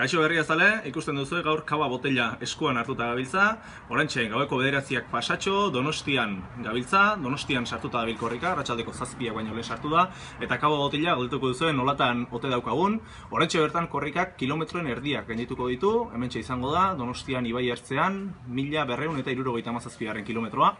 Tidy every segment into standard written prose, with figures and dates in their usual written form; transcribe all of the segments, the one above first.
Kaixo berriazale, ikusten duzu gaur kaba botella eskuan hartuta gabiltza. Oraintxe gaueko 9ak pasatxo, Donostian gabiltza, Donostian sartuta dabil korrika, arratsaldeko 7ak baino lehen sartu da, eta kaba botella galdetuko duzuen nolatan ote daukagun. Oraintxe bertan korrikak kilometroen erdiak gaindituko ditu, hementxe izango da, Donostian ibai ertzean, 1277 kilometroa.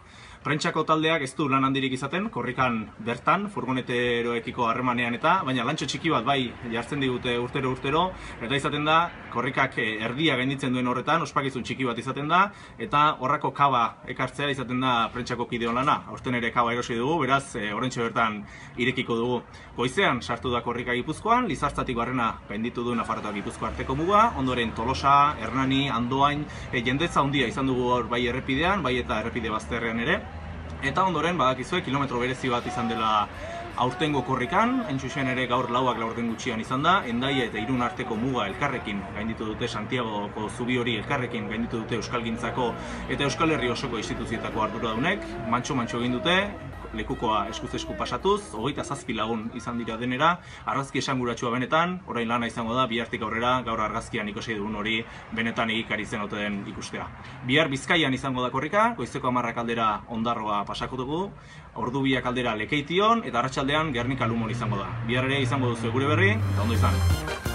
Prentsako taldeak ez du lan handirik izaten, korrikan bertan, furgoneteroekiko harremanean eta, baina lantxo txiki bat bai jartzen digute urtero, eta izaten da, korrikak erdia gainditzen duen horretan, ospakizun txiki bat izaten da, eta horrako kaba ekartzea izaten da prentsako kideon lana. Aurten ere kaba erosi dugu, beraz, oraintxe bertan irekiko dugu. Goizean sartu da korrika Gipuzkoan, Lizartzatik barrena gainditu du Nafarroa eta Gipuzkoa arteko muga, ondoren Tolosa, Hernani, Andoain, jendetza handia izan dugu hor bai errepidean, bai eta errepide bazterrean ere. Eta ondoren badakizue kilometro berezi bat izan dela aurtengo korrikan, hain zuzen ere gaur lauak laurden gutxian izan da, Hendaia eta Irun arteko muga elkarrekin gainditu dute, Santiagoko zubi hori elkarrekin gainditu dute Euskalgintzako eta Euskal Herri osoko instituzietako arduradunek, mantxo egin dute, lekukoa eskuz esku pasatuz, 27 lagun izan dira denera, argazki esanguratsua benetan, orain lana izango da, bihartik aurrera, gaur argazkian ikusi dugun hori benetan egikari zen ote den ikustea. Bihar Bizkaian izango da korrika, goizeko 10 aldera Ondarroa pasako dugu, ordu 2 aldera Lekeition, eta arratsaldean Gernika Lumon izango da. Bihar ere izango duzu gure berri, eta ondo izan.